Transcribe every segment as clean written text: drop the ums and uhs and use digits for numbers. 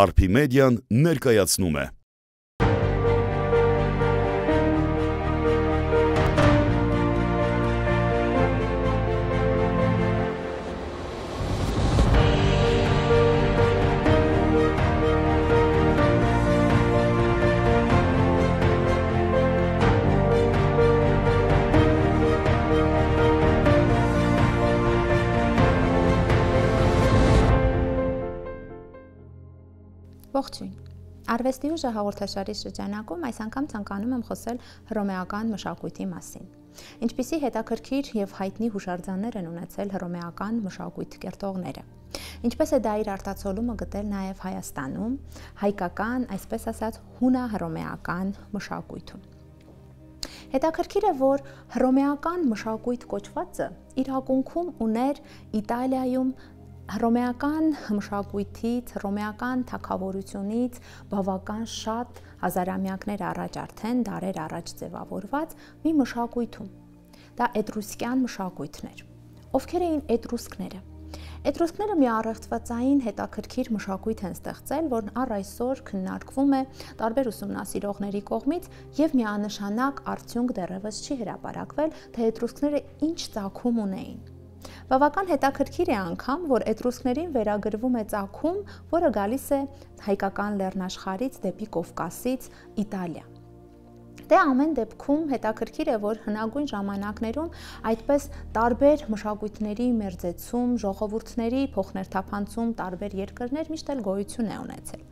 Արփիմեդիան ներկայացնում է։ Ողջույն։ Արվեստի ուժը հաղորդաշարի շրջանակում այս անգամ ցանկանում եմ խոսել հռոմեական մշակույթի մասին։ Ինչպիսի հետաքրքիր եւ հայտնի հուշարձաններ են ունեցել հռոմեական մշակույթ կերտողները։ Ինչպես է դա իր արտացոլումը գտել նաեւ Հայաստանում, հայկական, այսպես ասած, հունա-հռոմեական մշակույթում։ Հետաքրքիր է, որ հռոմեական մշակույթ կոչվածը իր ակունքում ուներ Իտալիայում հռոմեական մշակույթից, հռոմեական թագավորությունից բավական շատ հազարամյակներ առաջ արդեն դարեր առաջ ձևավորված մի մշակույթում։ Դա էտրուսկյան մշակույթն էր։ Ովքեր էին էտրուսկները։ Էտրուսկները մի առեղծվածային հետաքրքիր մշակույթ են ստեղծել, որն առ այսօր քննարկվում է տարբեր ուսումնասիրողների կողմից եւ միանշանակ արդյունք դեռևս չի հրապարակվել, թե էտրուսկները ինչ ծագում ունեին։ Բավական հետաքրքիր է անգամ, որ էտրուսկներին վերագրվում է ծագում, որը գալիս է հայկական լեռնաշխարհից դեպի Կովկասից Իտալիա։ Դե ամեն դեպքում հետաքրքիր է, որ հնագույն ժամանակներում այդպես տարբեր մշակույթների մերձեցում, ժողովուրդների փոխներթափանցում տարբեր երկրներ միշտ էլ գոյություն է ունեցել։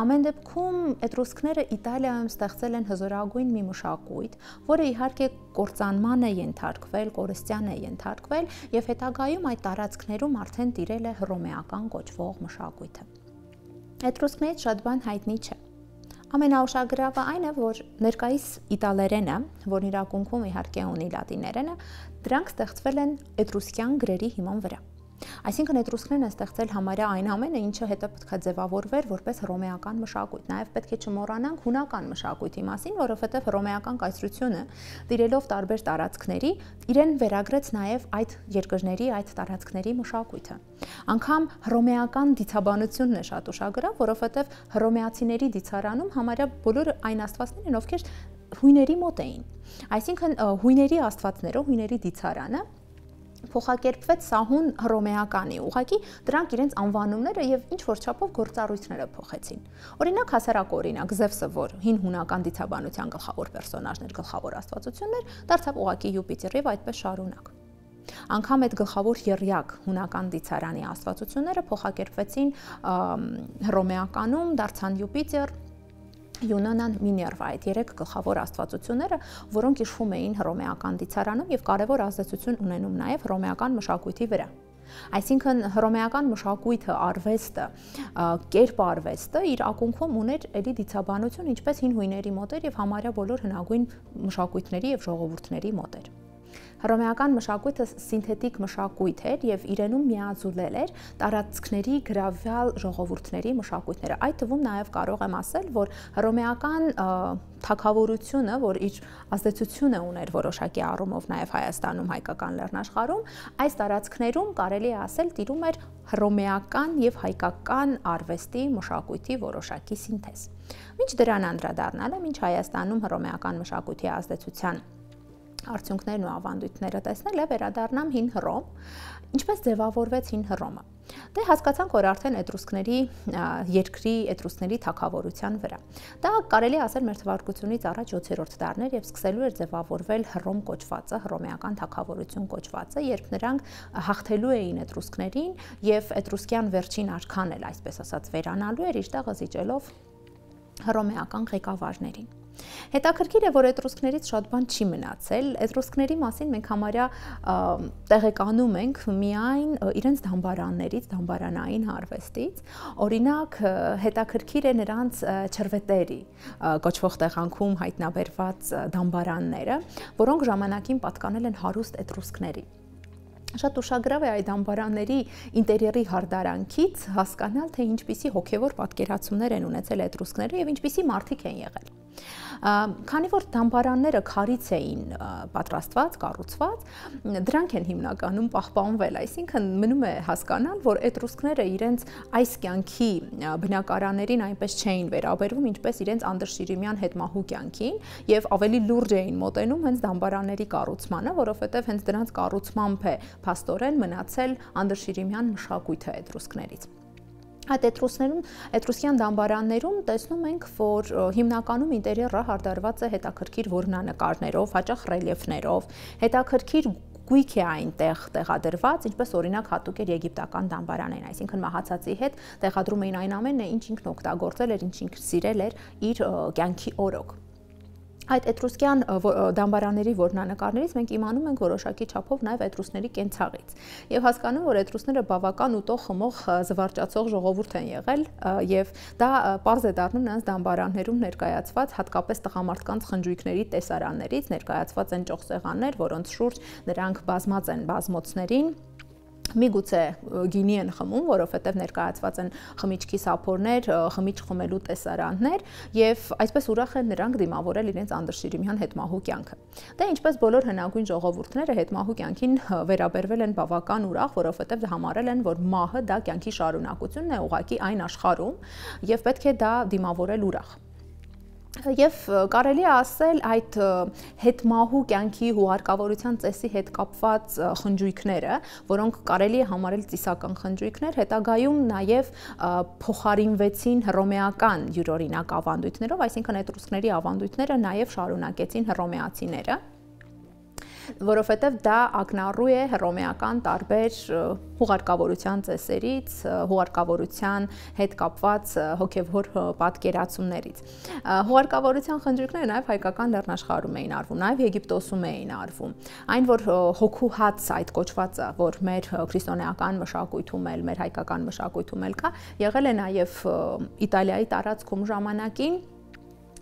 Ամեն դեպքում էտրուսկները Իտալիայում ստեղծել են հզորագույն մի մշակույթ, որը իհարկե կործանման է ենթարկվել, կորստյան է ենթարկվել եւ հետագայում այդ տարածքներում արդեն տիրել է հռոմեական կոչվող մշակույթը։ Էտրուսկներից շատ բան հայտնի չէ։ Ամենաուշագրավը այն է, որ ներկայիս իտալերենը, որն իր ակունքում իհարկե ունի լատիներենը, դրանք ստեղծվել են էտրուսկյան գրերի հիման վրա։ Այսինքն էտրուսկներն են ստեղծել համարյա այն ամենը, ինչը հետո պետք է ձևավորվեր որպես հռոմեական մշակույթ։ Նաև պետք է չմոռանանք հունական մշակույթի մասին, որովհետև հռոմեական կայսրությունը տիրելով տարբեր տարածքների, իրեն վերագրեց նաև այդ երկրների, այդ տարածքների մշակույթը։ Անկամ հռոմեական դիցաբանությունն է շատ ուշագրավ, որովհետև հռոմեացիների դիցարանում համարյա բոլոր այն աստվածներ են, ովքեր հույների մոտ էին։ Այսինքն հույների աստվածները, հույների դիցարանը փոխակերպվեց սահուն հռոմեականի, ուղղակի դրանք իրենց անվանումները եւ ինչ որ չափով գործառույթները փոխեցին։ Օրինակ հասարակ օրինակ Զևսը, որ հին հունական դիցաբանության գլխավոր պերսոնաժներ, գլխավոր աստվածություններ, դարձավ ուղղակի Յուպիտեր եւ այդպես շարունակ։ Անկամ այդ գլխավոր եռյակ հունական դիցարանի աստվածությունները փոխակերպվեցին հռոմեականում, դարձան Յուպիտեր, Յունոնան, Միներվա, այդ երեք գլխավոր աստվածությունները, որոնք իշխում էին հռոմեական դիցարանում եւ կարեւոր ազդեցություն ունենում նաեւ հռոմեական մշակույթի վրա։ Այսինքն հռոմեական մշակույթը, արվեստը, կերպ արվեստը իր ակունքում ուներ էլի դիցաբանություն, ինչպես հին հույների մոտ էր եւ համարյա բոլոր հնագույն մշակույթների եւ ժողովուրդների մոտ էր։ Հռոմեական մշակույթը սինթետիկ մշակույթ էր եւ իրենում միաձուլել էր տարածքների գրավյալ ժողովուրդների մշակույթները։ Այդ թվում նաեւ կարող եմ ասել, որ հռոմեական թագավորությունը, որ իր ազդեցությունը ուներ որոշակի առումով նաեւ Հայաստանում, հայկական լեռնաշխարհում, այս տարածքներում կարելի է ասել տիրում էր հռոմեական եւ հայկական արվեստի մշակույթի որոշակի սինթեզ։ Մինչ դրան անդրադառնալը, մինչ Հայաստանում հռոմեական մշակույթի ազդեցության արդյունքներն ու ավանդույթները տեսնել է, վերադառնամ հին Հռոմ, ինչպես ձևավորվեց հին Հռոմը։ Դե հասկացանք, որ արդեն էտրուսկների երկրի էտրուսկների թագավորության վրա։ Դա կարելի ասել մեր թվարկությունից առաջ 7-րդ դարներ եւ սկսելու էր ձևավորվել Հռոմ կոչվածը, հռոմեական թագավորություն կոչվածը, երբ նրանք հաղթելու էին էտրուսկներին եւ էտրուսկյան վերջին արքան էլ, այսպես ասած, վերանալու էր իր տեղը զիջելով հռոմեական ղեկավարներին։ Հետաքրքիր է, որ էտրուսկներից շատ բան չի մնացել։ Էտրուսկների մասին մենք համարյա տեղեկանում ենք միայն իրենց դամբարաններից, դամբարանային արվեստից։ Օրինակ, հետաքրքիր է նրանց չրվետերի կոչվող տեղանքում հայտնաբերված դամբարանները, որոնք ժամանակին պատկանել են հարուստ էտրուսկների։ Շատ ուշագրավ է այդ դամբարանների ինտերիերի հարդարանքից հասկանալ, թե ինչպիսի հոգևոր պատկերացումներ են ունեցել էտրուսկները եւ ինչպիսի մարդիկ են եղել։ Քանի որ դամբարանները քարից էին պատրաստված, կառուցված, դրանք են հիմնականում պահպանվել, այսինքն մնում է հասկանալ, որ էտրուսկները իրենց այս կյանքի բնակարաններին այնպես չէին վերաբերվում, ինչպես իրենց անդրշիրիմյան հետմահու կյանքին, եւ ավելի լուրջ էին մոտենում հենց դամբարանների կառուցմանը, որովհետեւ հենց դրանց կառուցմամբ է փաստորեն մնացել անդրշիրիմյան մշակույթը էտրուսկներից։ Այդ էտրուսկյան դամբարաններում տեսնում ենք, որ հիմնականում ինտերիերը հարդարված է հետաքրքիր որմնանկարներով, հաճախ ռելիեֆներով, հետաքրքիր գույք է այնտեղ տեղադրված, ինչպես օրինակ հատուկ էր եգիպտական դամբարանին, այսինքն մահացածի հետ տեղադրում էին այն ամենը, ինչ ինքն օգտագործել էր, ինչ ինքն սիրել էր իր կյանքի օրոք։ Այդ էտրուսկյան դամբարանների որմնանկարներից մենք իմանում ենք որոշակի չափով նաև էտրուսների կենցաղից եւ հասկանում, որ էտրուսները բավական ուտող, խմող, զվարճացող ժողովուրդ են եղել եւ դա պարզ է դառնում նրանց դամբարաններում ներկայացված հատկապես տղամարդկանց խնջույքների տեսարաններից ներկայացված են ճոխսեղաններ, որոնց շուրջ նրանք բազմած են բազմոցներին Միգուցե գինի են խմում, որովհետև ներկայացված են խմիչքի սափորներ, խմիչք խմելու տեսարաններ եւ այսպես ուրախ են նրանք դիմավորել իրենց անդրշիրիմյան հետմահու կյանքը։ Դե ինչպես բոլոր հնագույն ժողովուրդները հետմահու կյանքին վերաբերվել են բավական ուրախ, որովհետև համարել են, որ մահը դա կյանքի շարունակությունն է ուղղակի այն աշխարհում եւ պետք է դա դիմավորել ուրախ։ Եվ կարելի է ասել այդ հետմահու կյանքի հուղարկավորության ծեսի հետ կապված խնջույքները, որոնք կարելի է համարել ծիսական խնջույքներ, հետագայում նաև փոխարինվեցին հռոմեական յուրօրինակ ավանդույթներով, այսինքն էտրուսկների ավանդույթները նաև շարունակեցին հռոմեացիները, որովհետև դա ակնառու է հռոմեական տարբեր հուղարկավորության ծեսերից, հուղարկավորության հետ կապված հոգևոր պատկերացումներից։ Հուղարկավորության խնջույքները նաև հայկական լեռնաշխարհում էին արվում, նաև Եգիպտոսում էին արվում։ Այն, որ հոգու հաց այդ կոչվածը, որ մեր քրիստոնեական մշակույթում էլ, մեր հայկական մշակույթում էլ կա, եղել է նաև Իտալիայի տարածքում ժամանակին,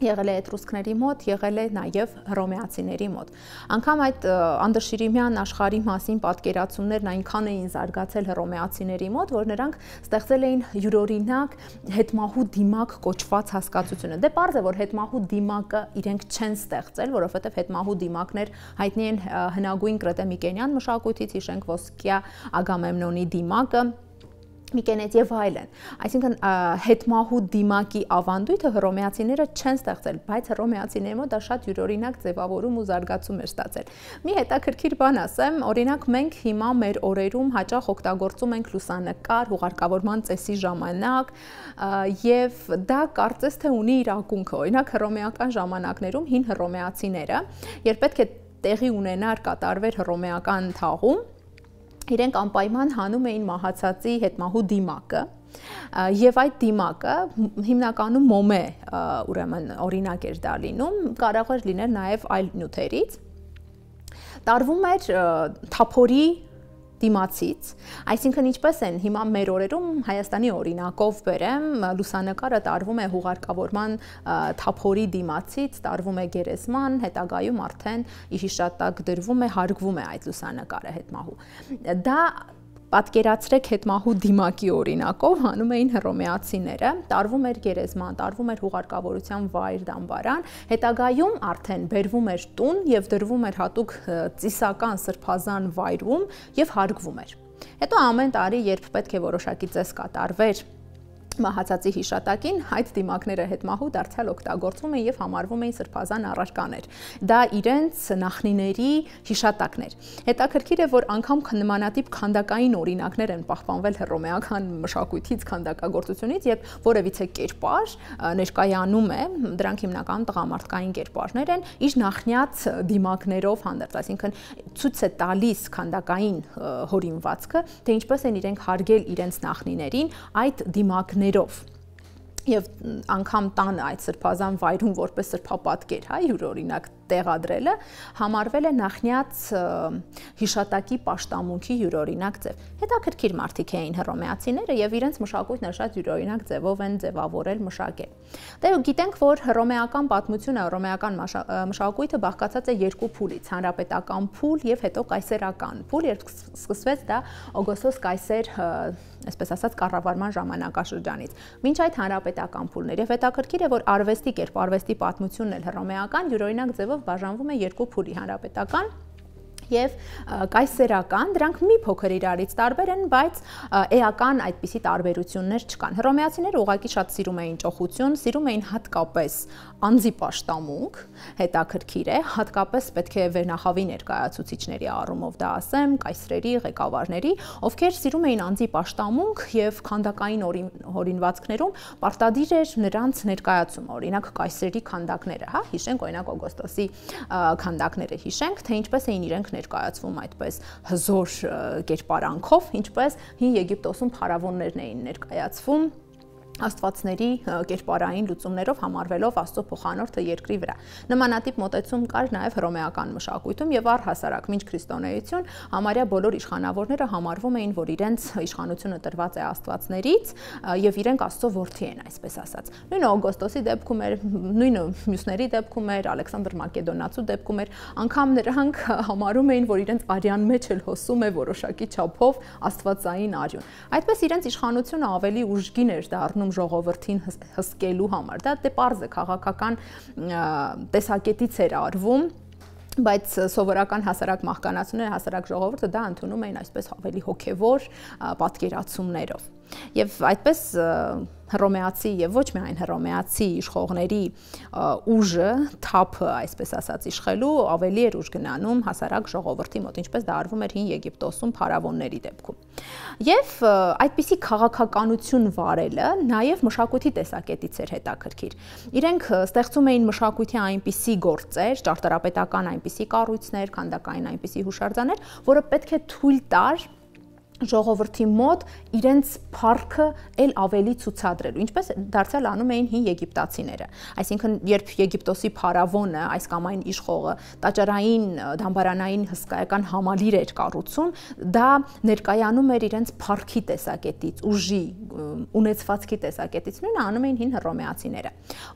եղել է էտրուսկների մոտ, եղել է նաև հռոմեացիների մոտ։ Անկամ այդ անդրշիրիմյան աշխարհի մասին պատկերացումներն այնքան էին զարգացել հռոմեացիների մոտ, որ նրանք ստեղծել էին յուրօրինակ հետմահու դիմակ կոչված հասկացությունը։ Դե պարզ է, որ հետմահու դիմակը իրենք չեն ստեղծել, որովհետև հետմահու դիմակներ հայտնի են հնագույն կրետե-միկենյան մշակույթից, հիշենք ոսկյա Ագամեմնոնի դիմակը, Միկենետ եւ այլն։ Այսինքն հետմահու դիմակի ավանդույթը հռոմեացիները չեն ստեղծել, բայց հռոմեացիների մոտ դա շատ յուրօրինակ ձևավորում ու զարգացում էր ստացել։ Մի հետաքրքիր բան ասեմ, օրինակ մենք հիմա մեր օրերում հաճախ օգտագործում ենք լուսանկար հուղարկավորման ծեսի ժամանակ եւ դա կարծես թե ունի իր ակունքը։ Օրինակ հռոմեական ժամանակներում հին հռոմեացիները, երբ պետք է տեղի ունենար կատարվեր հռոմեական թաղում, իրենք անպայման հանում էին մահացածի հետմահու դիմակը եւ այդ դիմակը հիմնականում մոմե ուրեմն օրինակ էր դա լինում, կարող էր լինել նաեւ այլ նյութերից, տարվում էր թափորի դիմացից, այսինքն ինչպես են հիմա մեր օրերում Հայաստանի օրինակով բերեմ, լուսանկարը տարվում է հուղարկավորման թափորի դիմացից, տարվում է գերեզման, հետագայում արդեն հիշատակ դրվում է, հարգվում է այդ լուսանկարը հետմահու։ Դա պատկերացրեք հետմահու դիմակի օրինակով հանում էին հռոմեացիները, տարվում էր գերեզման, տարվում էր հուղարկավորության վայր դամբարան, հետագայում արդեն բերվում էր տուն եւ դրվում էր հատուկ ծիսական սրբազան վայրում եւ հարգվում էր։ Հետո ամեն տարի, երբ պետք է որոշակի ծես կատարվեր մահացածի հիշատակին, այդ դիմակները հետմահու դարձյալ օգտագործվում են եւ համարվում էին սրբազան առարկաներ։ Դա իրենց նախնիների հիշատակներ։ Հետաքրքիր է, որ անգամ նմանատիպ քանդակային օրինակներ են պահպանվել հռոմեական մշակույթից, քանդակագործությունից, երբ որևիցե կերպար ներկայանում է, դրանք հիմնականում տղամարդկային կերպարներ են, իր նախնյաց դիմակներով հանդերձ, այսինքն ցույց է տալիս քանդակային հորինվածքը, թե ինչպես են իրենք հարգել իրենց նախնիներին այդ դիմակները Եվ անգամ տանը այդ սրբազան վայրում որպես սրբապատկեր, հա, յուրօրինակ տեղադրելը համարվել է նախնյաց հիշատակի պաշտամունքի յուրօրինակ ձև։ Հետաքրքիր մարդիկ էին հռոմեացիները եւ իրենց մշակույթն շատ յուրօրինակ ձևով են ձևավորել, մշակել։ Դե գիտենք, որ հռոմեական պատմությունը, հռոմեական մշակույթը բաղկացած է երկու փուլից՝ հանրապետական փուլ եւ հետո կայսերական փուլ, երբ սկսվեց դա Օգոստոս կայսեր, այսպես ասած, կառավարման ժամանակաշրջանից։ Մինչ այդ հանրապետական փուլն էր եւ հետաքրքիր է, որ արվեստի կերպ, արվեստի պատմությունն էլ հռոմեական յուրօրինակ ձևով բաժանվում է երկու փուլի՝ հանրապետական եւ կայսերական, դրանք մի փոքր իրարից տարբեր են, բայց էական այդպիսի տարբերություններ չկան։ Հռոմեացիները ուղղակի շատ սիրում էին ճոխություն, սիրում էին հատկապես անձի պաշտամունք, հետաքրքիր է, հատկապես պետք է վերնախավի ներկայացուցիչների առումով դա ասեմ, կայսրերի, ղեկավարների, ովքեր սիրում էին անձի պաշտամունք եւ քանդակային օրինվածքներում պարտադիր էր նրանց ներկայացումը, օրինակ կայսրերի քանդակները, հա, հիշենք օրինակ Օգոստոսի քանդակները հիշենք, թե ինչպես էին իրենք ներկայացվում այդպես հզոր կերպարանքով, ինչպես հին Եգիպտոսում փարավոններն էին ներկայացվում աստվածների կերպարային լուծումներով համարվելով Աստծո փոխանորդը երկրի վրա։ Նմանատիպ մոտեցում կար նաև հռոմեական մշակույթում եւ առհասարակ մինչ քրիստոնեություն համարյա բոլոր իշխանավորները համարվում էին, որ իրենց իշխանությունը տրված է աստվածներից եւ իրենք Աստծո որդի են, այսպես ասած։ Նույնը Օգոստոսի դեպքում էր, նույնը մյուսների դեպքում էր, Ալեքսանդր Մակեդոնացու դեպքում էր, անգամ նրանք համարում էին, որ իրենց արյան մեջ էլ հոսում է որոշակի չափով աստվածային արյուն։ Այդպես իրենց իշխանությունը ավելի ուժգին էր դառնում ժողովրդին հսկելու համար։ Դա դե պարզ է, քաղաքական տեսակետից էր արվում, բայց սովորական հասարակ մահկանացուները, հասարակ ժողովուրդը դա ընդունում էին այսպես ավելի հոգևոր պատկերացումներով։ Եվ այդպես հռոմեացի եւ ոչ միայն հռոմեացի իշխողների ուժը, թափը, այսպես ասած, իշխելու ավելի էր ուժ գնանում հասարակ ժողովրդի մոտ, ինչպես դա արվում էր հին Եգիպտոսում փարավոնների դեպքում։ Եվ այդպիսի քաղաքականություն վարելը նաեւ մշակույթի տեսակետից էր հետաքրքիր։ Իրենք ստեղծում էին մշակույթի այնպիսի գործեր, ճարտարապետական այնպիսի կառույցներ, քանդակային այնպիսի հուշարձաններ, որը պետք է թույլ տար ժողովրդի մոտ իրենց փառքը ել ավելի ցուցադրելու, ինչպես դարձյալ անում էին հին եգիպտացիները։ Այսինքն, երբ Եգիպտոսի փարավոնը, այս կամ այն իշխողը տաճարային, դամբարանային հսկայական համալիր էր կառուցում, դա ներկայանում էր իրենց փառքի տեսակետից, ուժի, ունեցվածքի տեսակետից, նույնը անում էին հին հռոմեացիները։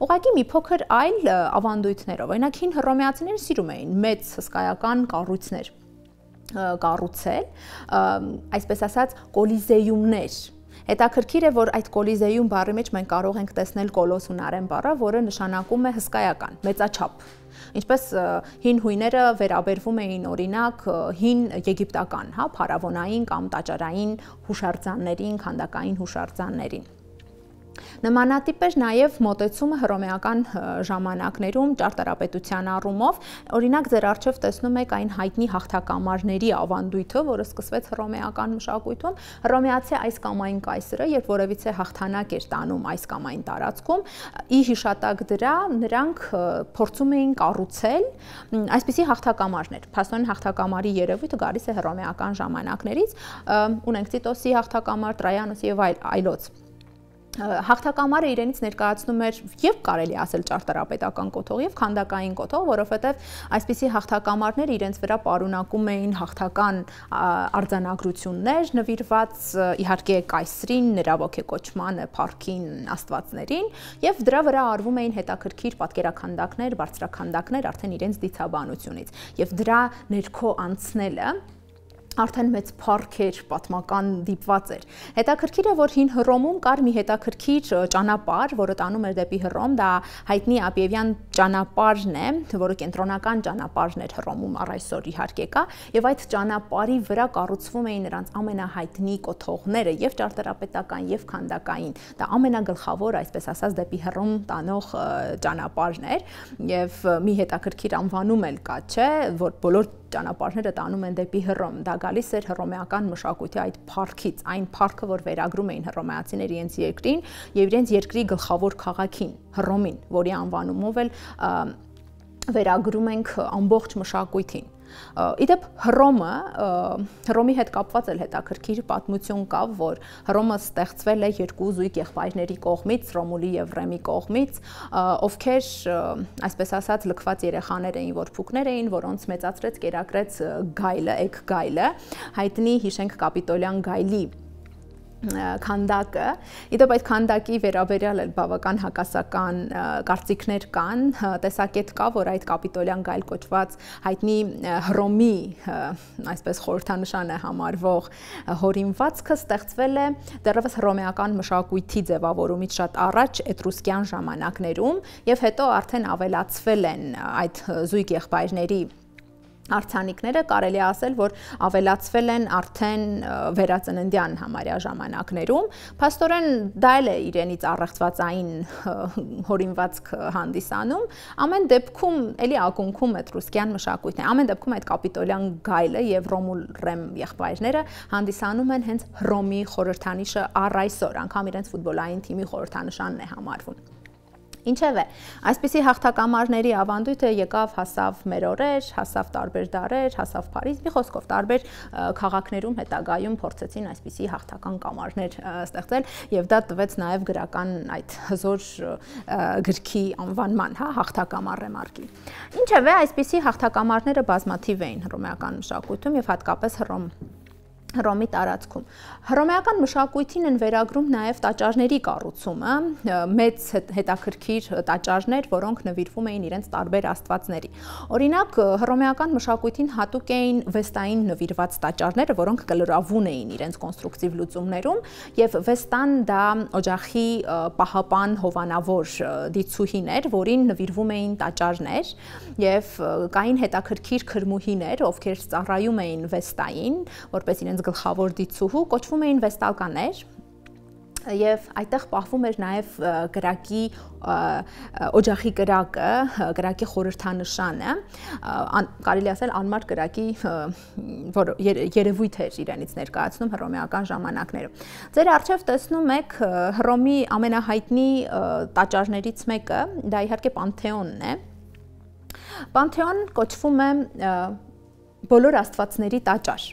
Ուղղակի մի փոքր այլ ավանդույթներով, օրինակ հին հռոմեացիները սիրում էին մեծ հսկայական կառույցներ կառուցել, այսպես ասած, կոլիզեյումներ։ Հետաքրքիր է, որ այդ կոլիզեյում բառի մեջ մենք կարող ենք տեսնել կոլոսունարեն բառը, որը նշանակում է հսկայական, մեծաչափ։ Ինչպես հին հույները վերաբերվում էին օրինակ հին եգիպտական, հա, փարավոնային կամ տաճարային հուշարձաններին, քանդակային հուշարձաններին։ Նմանատիպ էր նաև մոտեցումը հռոմեական ժամանակներում ճարտարապետության առումով, օրինակ ձեր առջև տեսնում եք այն հայտնի հաղթակամարների ավանդույթը, որը սկսվեց հռոմեական մշակույթում, հռոմեացի այս կամ այն կայսրը, երբ որևիցե հաղթանակ էր տանում այս կամ այն տարածքում, ի հիշատակ դրա նրանք փորձում էին կառուցել այսպիսի հաղթակամարներ։ Փաստորեն հաղթակամարի երևույթը գալիս է հռոմեական ժամանակներից, ունենք Տիտոսի հաղթակամար, Տրայանոսի եւ այլոց։ Հաղթակամարը իրենից ներկայացնում էր եւ կարելի ասել ճարտարապետական կոթող եւ քանդակային կոթող, որովհետեւ այսպիսի հաղթակամարներ իրենց վրա պարունակում էին հաղթական արձանագրություններ, նվիրված իհարկե կայսրին, նրա ոգեկոչմանը, փառքին, աստվածներին, եւ դրա վրա արվում էին հետաքրքիր պատկերաքանդակներ, բարձրաքանդակներ արդեն իրենց դիցաբանությունից, եւ դրա ներքո անցնելը արդեն մեծ փառք էր, պատմական դիպված էր։ Հետաքրքիր է, որ հին Հռոմում կար մի հետաքրքիր ճանապարհ, որը տանում էր դեպի Հռոմ, դա հայտնի Ապիևյան ճանապարհն է, որը կենտրոնական ճանապարհն էր Հռոմում առ այսօր իհարկե կա, եւ այդ ճանապարհի վրա կառուցվում էին նրանց ամենահայտնի կոթողները, եւ ճարտարապետական, եւ քանդակային։ Դա ամենագլխավոր, այսպես ասած, դեպի Հռոմ տանող ճանապարհն էր, եւ մի հետաքրքիր անվանում էլ կա, չէ, որ բոլոր ճանապարհները տանում են դեպի Հռոմ։ Դա գալիս էր հռոմեական մշակույթի այդ փառքից, այն փառքը, որ վերագրում էին հռոմեացիները իրենց երկրին եւ իրենց երկրի գլխավոր քաղաքին, Հռոմին, որի անվանումով էլ վերագրում ենք ամբողջ մշակույթին։ Իդեպ Հռոմի հետ կապված էլ հետաքրքիր պատմություն կա, որ Հռոմը ստեղծվել է երկու զույգ եղբայրների կողմից, Ռոմուլի եւ Ռեմի կողմից, ովքեր, այսպես ասած, լքված երեխաներ էին, որփուկներ էին, որոնց մեծացրեց, կերակրեց գայլը, էգ գայլը, հայտնի հիշենք կապիտոլյան գայլի քանդակը, իդեպ այդ քանդակի վերաբերյալ էլ բավական հակասական կարծիքներ կան, տեսակետ կա, որ այդ կապիտոլյան գայլ կոչված հայտնի Հռոմի, այսպես խորհրդանշան է համարվող հորինվածքը ստեղծվել է դեռևս հռոմեական մշակույթի ձևավորումից շատ առաջ էտրուսկյան ժամանակներում եւ հետո արդեն ավելացվել են այդ զույգ եղբայրների արձանիկները, կարելի է ասել, որ ավելացվել են արդեն վերածննդյան համարյա ժամանակներում, փաստորեն դա էլ է իրենից առեղծվածային հորինվածք հանդիսանում, ամեն դեպքում էլի ակունքում էտրուսկյան մշակույթն է, ամեն դեպքում այդ կապիտոլյան գայլը եւ Ռոմուլ Ռեմ եղբայրները հանդիսանում են հենց Հռոմի խորհրդանիշը առ այսօր, անգամ իրենց ֆուտբոլային թիմի խորհրդանշանն է համարվում։ Ինչևէ, այսպիսի հաղթակամարների ավանդույթը եկավ, հասավ մեր օրեր, հասավ տարբեր դարեր, հասավ Փարիզ, մի խոսքով տարբեր քաղաքներում հետագայում փորձեցին այսպիսի հաղթական կամարներ ստեղծել եւ դա տվեց նաեւ գրական այդ հզոր գրքի անվանման, հա, հաղթակամար ռեմարկի։ Ինչևէ, այսպիսի հաղթակամարները բազմաթիվ էին հռոմեական մշակույթում եւ հատկապես Հռոմի տարածքում։ Հռոմեական մշակույթին են վերագրում նաև տաճարների կառուցումը, մեծ հետաքրքիր տաճարներ, որոնք նվիրվում էին իրենց տարբեր աստվածների։ Օրինակ, հռոմեական մշակույթին հատուկ էին վեստային նվիրված տաճարները, որոնք կլրավուն էին իրենց կոնստրուկտիվ լուծումներում, եւ վեստան դա օջախի պահապան հովանավոր դիցուհին էր, որին նվիրվում էին տաճարներ, եւ կային հետաքրքիր քրմուհիներ, ովքեր ծառայում էին վեստային, որպես իրենց գլխավոր դիցուհու, կոչվում էին վեստալկաներ եւ այդտեղ պահվում էր նաեւ կրակի օջախի կրակը, կրակի խորհրդանշանը, կարելի ասել անմար կրակի որ երևույթ էր իրենից ներկայացնում հռոմեական ժամանակներում։ Ձեր առջև տեսնում եք Հռոմի ամենահայտնի տաճարներից մեկը, դա իհարկե Պանթեոնն է։ Պանթեոն կոչվում է բոլոր աստվածների տաճար։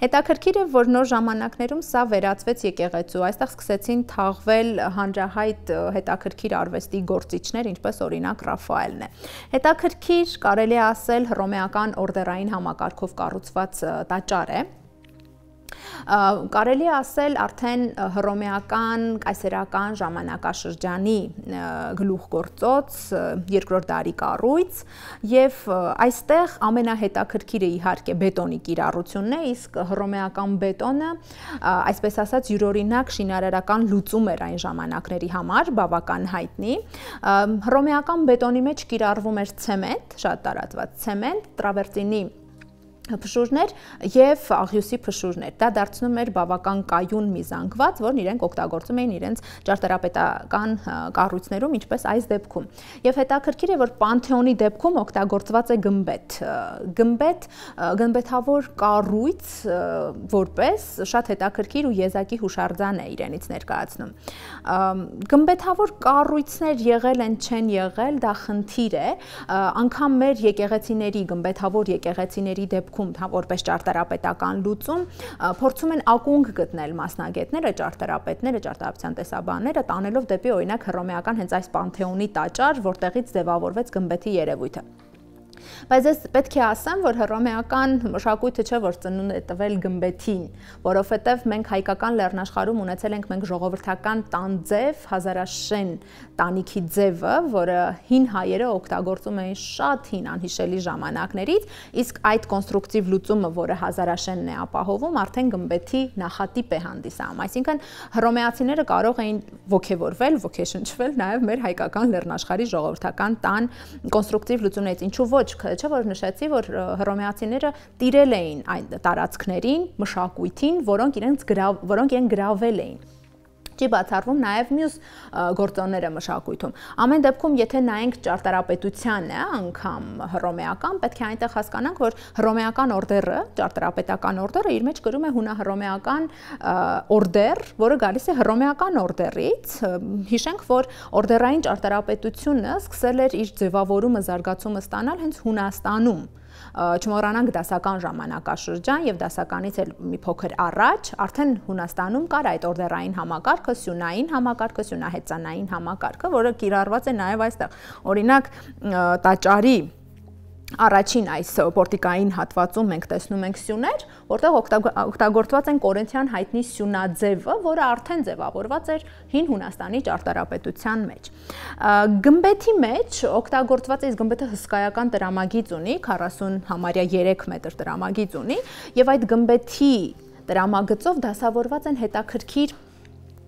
Հետաքրքիր է, որ նոր ժամանակներում սա վերածվեց եկեղեցու, այստեղ սկսեցին թաղվել հանրահայտ հետաքրքիր արվեստի գործիչներ, ինչպես օրինակ Ռաֆայելն է։ Հետաքրքիր կարելի է ասել հռոմեական օրդերային համակարգով կառուցված տաճար է։ Կարելի է ասել արդեն հռոմեական կայսերական ժամանակաշրջանի գլուխգործոց երկրորդ դարի կառույց եւ այստեղ ամենահետաքրքիրը իհարկե բետոնի կիրառությունն է, իսկ հռոմեական բետոնը, այսպես ասած, յուրօրինակ շինարարական լուծում էր այն ժամանակների համար, բավական հայտնի։ Հռոմեական բետոնի մեջ կիրառվում էր ցեմենտ, շատ տարածված ցեմենտ, տրավերտինի փշուրներ եւ աղյուսի փշուրներ։ Դա դարձնում էր բավական կայուն մի զանգված, որն իրենք օգտագործում էին իրենց ճարտարապետական կառույցներում, ինչպես այս դեպքում։ Եվ հետաքրքիր է, որ Պանթեոնի դեպքում օգտագործված է գմբեթ։ Գմբեթավոր կառույց որպես շատ հետաքրքիր ու եզակի հուշարձան է իրենից ներկայացնում։ Գմբեթավոր կառույցներ եղել են, չեն եղել, դա խնդիր է, անգամ մեր եկեղեցիների, գմբեթավոր եկեղեցիների դեպքում որպես ճարտարապետական լուծում փորձում են ակունք գտնել մասնագետները, ճարտարապետները, ճարտարապետության տեսաբանները, տանելով դեպի օրինակ հռոմեական հենց այս Պանթեոնի տաճար, որտեղից ձևավորվեց գմբեթի երևույթը։ Բայց ես պետք է ասեմ, որ հռոմեական մշակույթը չէ, որ ծնունդ է տվել գմբեթին, որովհետև մենք հայկական լեռնաշխարհում ունեցել ենք մենք ժողովրդական տանձև, հազարաշեն տանիքի ձևը, որը հին հայերը օգտագործում էին շատ հին անհիշելի ժամանակներից, իսկ այդ կոնստրուկտիվ լուծումը, որը հազարաշենն է ապահովում, արդեն գմբեթի նախատիպ է հանդիսանում։ Այսինքն հռոմեացիները կարող էին ոգևորվել, ոգեշնչվել նաև մեր հայկական լեռնաշխարհի ժողովրդական տան կոնստրուկտիվ լուծումներից, ինչու ոչ, չէ՞ որ նշեցի, որ հռոմեացիները տիրել էին այն տարածքներին, մշակույթին, որոնք իրենք գրավել էին։ Չի բացառվում նաև մյուս գործոնները մշակույթում։ Ամեն դեպքում, եթե նայենք ճարտարապետությանը, անգամ հռոմեական, պետք է այնտեղ հասկանանք, որ հռոմեական օրդերը, ճարտարապետական օրդերը իր մեջ կրում է հունահռոմեական օրդեր, որը գալիս է հռոմեական օրդերից։ Հիշենք, որ օրդերային ճարտարապետությունը սկսել էր իր ձևավորումը, զարգացումը ստանալ հենց Հունաստանում։ չմոռանանք դասական ժամանակաշրջան եւ դասականից էլ մի փոքր առաջ արդեն Հունաստանում կար այդ օրդերային համակարգը, սյունային համակարգը, սյունահեծանային համակարգը, որը կիրառված է նաեւ այստեղ։ Օրինակ տաճարի առաջին այս պորտիկային հատվածում մենք տեսնում ենք սյուներ, որտեղ օգտագործված են կորինթյան հայտնի սյունաձևը, որը արդեն ձևավորված էր հին Հունաստանի ճարտարապետության մեջ։ Գմբեթի մեջ օգտագործված է, գմբեթը հսկայական տրամագիծ ունի, 40 համարյա 3 մետր տրամագիծ ունի, եւ այդ գմբեթի տրամագծով դասավորված են հետաքրքիր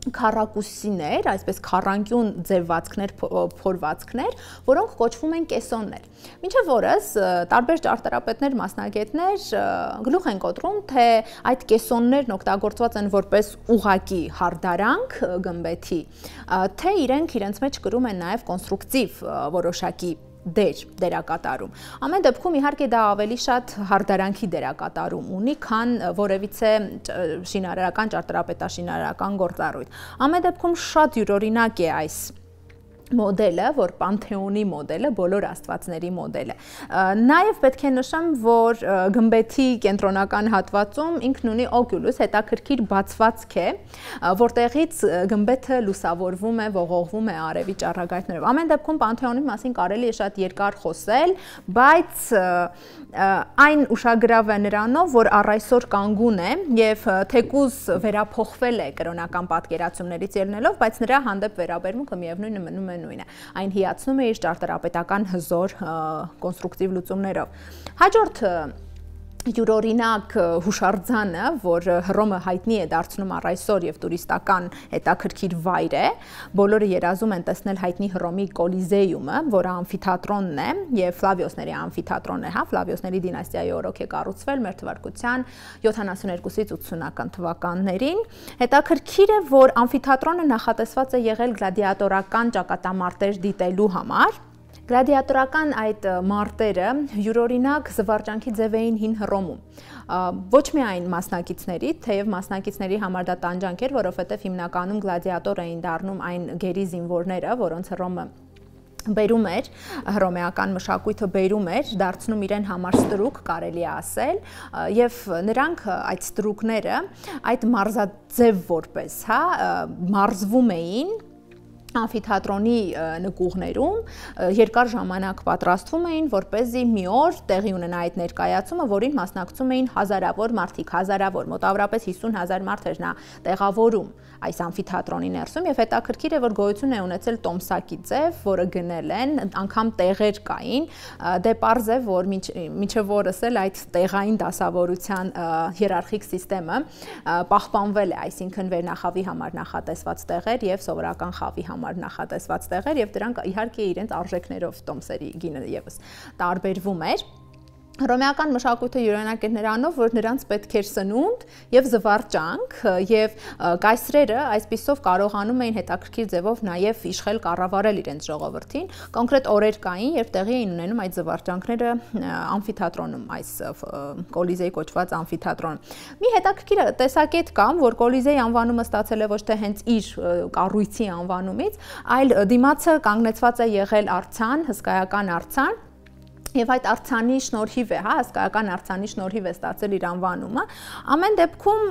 քառակուսիներ, այսպես քառանկյուն ձևվածքներ, փորվածքներ, որոնք կոչվում են կեսոններ։ Մինչև օրս տարբեր ճարտարապետներ, մասնագետներ գլուխ են կոտրում, թե այդ կեսոններն օգտագործված են որպես ուղղակի հարդարանք գմբեթի, թե իրենց մեջ կրում են նաև կոնստրուկտիվ որոշակի դերակատարում։ Ամեն դեպքում իհարկե դա ավելի շատ հարդարանքի դերակատարում ունի, քան որևիցե շինարարական, ճարտարապետաշինարարական գործառույթ։ Ամեն դեպքում շատ յուրօրինակ է այս մոդելը, որ Պանթեոնի մոդելը, բոլոր աստվածների մոդելը։ Նաև պետք է նշեմ, որ գմբեթի կենտրոնական հատվածում ինքն ունի օկուլուս, հետաքրքիր բացվածք է, որտեղից գմբեթը լուսավորվում է, ողողվում է արևի ճառագայթներով։ Ամեն դեպքում Պանթեոնի մասին կարելի է շատ երկար խոսել, բայց այն ուշագրավ է նրանով, որ առ այսօր կանգուն է եւ թեկուզ վերափոխվել է կրոնական պատկերացումներից ելնելով, բայց նրա հանդեպ վերաբերմունքը միևնույնը մնում է նույնը։ Այն հիացնում է իր ճարտարապետական հզոր կոնստրուկտիվ լուծումներով։ Հաջորդ յուրօրինակ հուշարձանը, որ Հռոմը հայտնի է դարձնում առ այսօր եւ տուրիստական հետաքրքիր վայր է, բոլորը երազում են տեսնել հայտնի Հռոմի Կոլիզեյումը, որը ամֆիթատրոնն է եւ Ֆլավիոսների ամֆիթատրոնն է, հա, Ֆլավիոսների դինաստիայի օրոք է կառուցվել մեր թվարկության 72-ից 80-ական թվականներին։ Հետաքրքիր է, որ ամֆիթատրոնը նախատեսված է եղել գլադիատորական ճակատամարտեր դիտելու համար։ Գլադիատորական այդ մարտերը յուրօրինակ զվարճանքի ձև էին հին Հռոմում։ Ոչ միայն մասնակիցների, թեև մասնակիցների համար դա տանջանք էր, որովհետև հիմնականում գլադիատոր էին դառնում այն գերի զինվորները, որոնց Հռոմը բերում էր, հռոմեական մշակույթը բերում էր, դարձնում իրեն համար ստրուկ, կարելի է ասել, եւ նրանք այդ ստրուկները այդ մարզաձև որպես, հա, մարզվում էին ամֆիթատրոնի նկուղներում, երկար ժամանակ պատրաստվում էին, որպեսզի մի օր տեղի ունենա այդ ներկայացումը, որին մասնակցում էին հազարավոր մարդիկ, մոտավորապես 50,000 մարդ էր նա տեղավորում այս ամֆիթատրոնի ներսում, եւ հետաքրքիր է, որ գոյություն է ունեցել տոմսակի ձև, որը գնել են, անգամ տեղեր կային, դե պարզ է, որ մինչև օրս էլ այդ տեղային դասավորության հիերարխիկ սիստեմը պահպանվել է, այսինքն վերնախավի համար նախատեսված տեղեր եւ սովորական խավի համար նախատեսված տեղեր եւ դրանք իհարկե իրենց արժեքներով տոմսերի գինը եւս տարբերվում էր։ Հռոմեական մշակույթը յուրօրինակ էր նրանով, որ նրանց պետք էր սնունդ եւ զվարճանք եւ կայսրերը այսպիսով կարողանում էին հետաքրքիր ձևով նաեւ իշխել կառավարել իրենց ժողովրդին։ Կոնկրետ օրեր կային, երբ տեղի էին ունենում այդ զվարճանքները ամֆիթատրոնում, այս Կոլիզեի կոչված ամֆիթատրոնում։ Մի հետաքրքիր տեսակետ կա, որ Կոլիզեի անվանումը ստացել է ոչ թե հենց իր կառույցի անվանումից, այլ դիմացը կանգնեցված է եղել արձան, հսկայական արձան։ Եվ այդ արձանի շնորհիվ է, հա, հսկայական արձանի շնորհիվ է ստացել իր անվանումը։ Ամեն դեպքում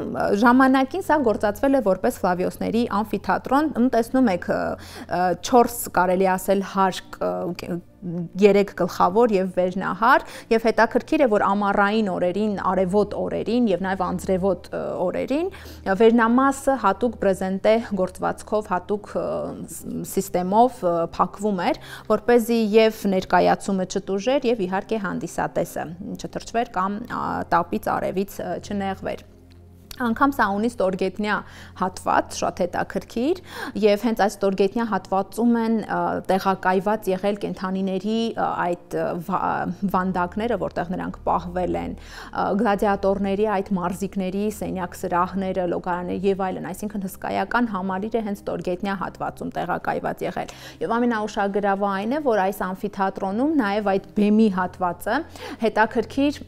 ժամանակին սա գործածվել է որպես Ֆլավիոսների ամֆիթատրոն։ Տեսնում եք 4 կարելի ասել հարկ 3 գլխավոր եւ վերնահար եւ հետաքրքիր է, որ ամառային օրերին, արևոտ օրերին եւ նաեւ անձրևոտ օրերին վերնամասը հատուկ բրեզենտե գործվածքով, հատուկ սիստեմով փակվում էր, որպեսզի եւ ներկայացումը չտուժեր եւ իհարկե հանդիսատեսը չթրջվեր կամ տապից արևից չնեղվեր։ Անգամ սա ունի ստորգետնյա հատված, շատ հետաքրքիր, եւ հենց այս ստորգետնյա հատվածում են տեղակայված եղել կենդանիների այդ վանդակները, որտեղ նրանք պահվել են, գլադիատորների այդ մարզիկների սենյակ սրահները, լոգարանները եւ այլն, այսինքն հսկայական համալիր է հենց ստորգետնյա հատվածում տեղակայված եղել։ Եվ ամենաուշագրավը այն է, որ այս ամֆիթատրոնում նաեւ այդ բեմի հատվածը հետաքրքիր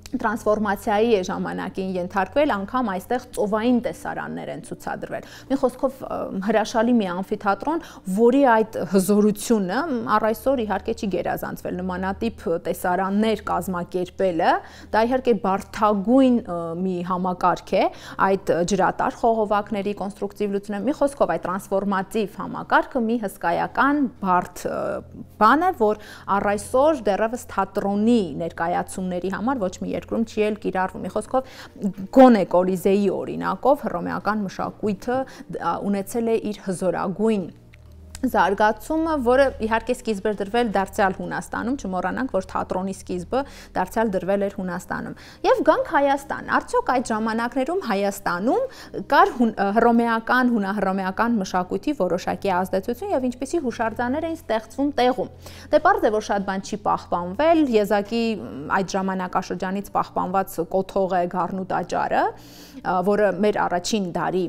տրանսֆորմացիայի ժամանակին ենթարկվել, անգամ այստեղ ծովային տեսարաններ են ցուցադրվել։ Մի խոսքով հրաշալի մի ամֆիթատրոն, որի այդ հզորությունը առ այսօր իհարկե չի գերազանցվել, նմանատիպ տեսարաններ կազմակերպելը, դա իհարկե բարդագույն մի համակարգ է, այդ ջրատար խողովակների կոնստրուկտիվությունը, մի խոսքով այդ տրանսֆորմատիվ համակարգը մի հսկայական բարդ բան է, որ առ այսօր դեռևս թատրոնի ներկայացումների համար ոչ մի երկրում չի էլ կիրառվում։ Մի խոսքով գոնե Կոլիզեի օրինակով հռոմեական մշակույթը ունեցել է իր հզորագույն զարգացումը, որը իհարկե սկիզբ էր դրվել դարձյալ Հունաստանում, չմոռանանք, որ թատրոնի սկիզբը դարձյալ դրվել էր Հունաստանում։ Եվ գանք Հայաստան, արդյոք այդ ժամանակներում Հայաստանում կար հռոմեական, հունահռոմեական մշակույթի որոշակի ազդեցություն եւ ինչպիսի հուշարձաններ էին ստեղծվում տեղում։ Դե պարզ է, որ շատ բան չի պահպանվել, եզակի այդ ժամանակաշրջանից պահպանված կոթող է Գառնու տաճարը, որը մեր առաջին դարի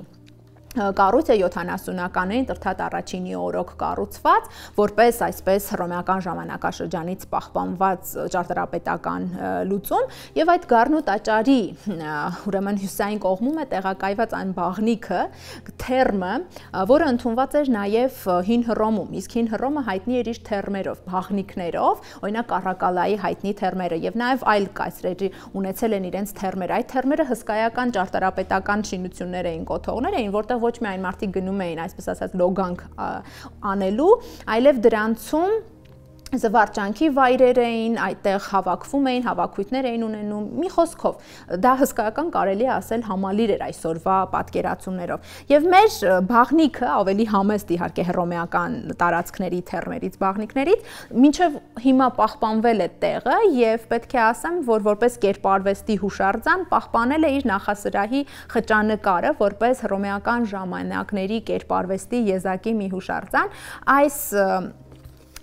կառույց է 70-ականներին Տրթատ առաջինի օրոք կառուցված, որպես այսպես հռոմեական ժամանակաշրջանից պահպանված ճարտարապետական լուծում, եւ այդ Գառնու տաճարի ուրեմն հյուսային կողմում է տեղակայված այն բաղնիքը, թերմը, որը ընդունված էր նաեւ հին Հռոմում, իսկ հին Հռոմը հայտնի էր իր թերմերով, բաղնիքներով, օրինակ Կարակալայի հայտնի թերմերը եւ նաեւ այլ կայսրերի ունեցել են իրենց թերմեր։ Այդ թերմերը հսկայական ճարտարապետական շինություններ էին, կոթողներ էին, որտեղ ոչ միայն մարդիկ գնում էին, այսպես ասած, լոգանք անելու, այլև դրանցում զվարճանքի վայրեր էին, այդտեղ հավաքվում էին, հավաքույթներ էին ունենում, մի խոսքով, դա հսկայական կարելի է ասել համալիր էր այսօրվա պատկերացումներով։ Եվ մեր բաղնիքը ավելի համեստ իհարկե հռոմեական տարածքների թերմերից բաղնիքներից, մինչև հիմա պահպանվել է տեղը եւ պետք է ասեմ, որ որպես կերպարվեստի հուշարձան պահպանել է իր նախասրահի խճանկարը, որպես հռոմեական ժամանակների կերպարվեստի եզակի մի հուշարձան, այս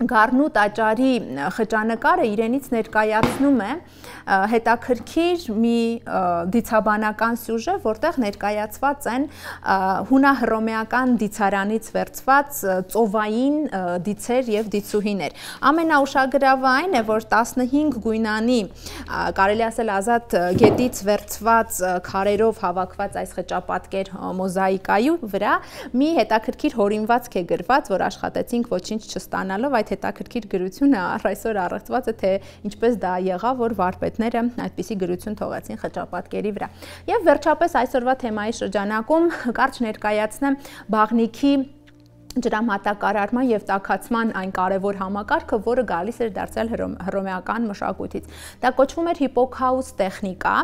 Գառնու տաճարի խճանկարը իրենից ներկայացնում է հետաքրքիր մի դիցաբանական սյուժե, որտեղ ներկայացված են հունահռոմեական դիցարանից վերցված ծովային դիցեր եւ դիցուհիներ։ Ամենաուշագրավը այն է, որ 15 գույնանի, կարելի ասել ազատ գետից վերցված քարերով հավաքված այս խճապատկեր մոզաիկայի վրա մի հետաքրքիր հորինվածք է գրված, որ աշխատեցինք ոչինչ չստանալով, այդ հետաքրքիր գրությունը առ այսօր առեղծված է, թե ինչպես դա եղավ, որ վարպետները այդպիսի գրություն թողեցին խճապատկերի վրա։ Եվ վերջապես այսօրվա թեմայի շրջանակում կարճ ներկայացնեմ բաղնիքի ջրամատակարարման եւ տաքացման այն կարևոր համակարգը, որը գալիս էր դարձյալ հռոմեական մշակույթից։ Դա կոչվում էր հիպոքաուս տեխնիկա,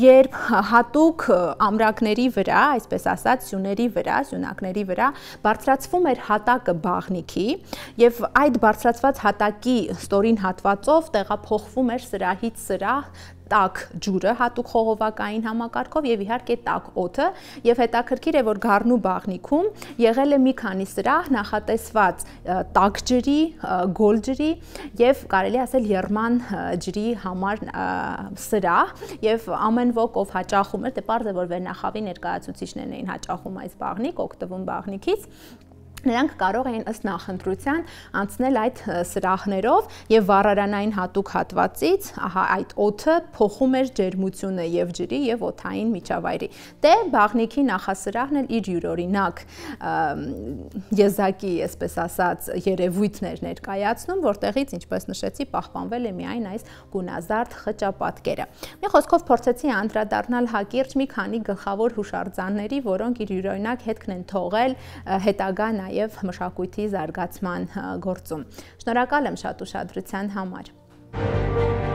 երբ հատուկ ամրակների վրա, այսպես ասած, սյուների վրա, սյունակների վրա բարձրացվում էր հատակը բաղնիքի եւ այդ բարձրացված հատակի ստորին հատվածով տեղափոխվում էր սրահից սրահ տաք ջուրը, հատուկ խողովակային համակարգով եւ իհարկե տաք օդը, եւ հետաքրքիր է, որ Գառնու բաղնիքում եղել է մի քանի սրահ նախատեսված տաք ջրի, գոլ ջրի եւ կարելի ասել եռման ջրի համար սրահ, եւ ամեն ոք ով հաճախում էր, դե պարզ է, որ վերնախավի ներկայացուցիչներն էին հաճախում այս բաղնիկ, օգտվում բաղնիքից, նրանք կարող էին ըստ նախընտրության անցնել այդ սրահներով եւ վառարանային հատուկ հատվածից, ահա այդ օդը փոխում էր ջերմությունը եւ ջրի եւ օդային միջավայրի։ Դե բաղնիքի նախասրահն էլ իր յուրօրինակ եզակի, այսպես ասած, երևույթներ ներկայացնում, որտեղից, ինչպես նշեցի, պահպանվել է միայն այս գունազարդ խճապատկերը։ Մի խոսքով փորձեցի անդրադառնալ հակիրճ մի քանի գլխավոր հուշարձանների, որոնք իր յուրօրինակ հետքն են թողել հետագա եւ մշակույթի զարգացման գործում։ Շնորհակալ եմ շատ ուշադրության համար։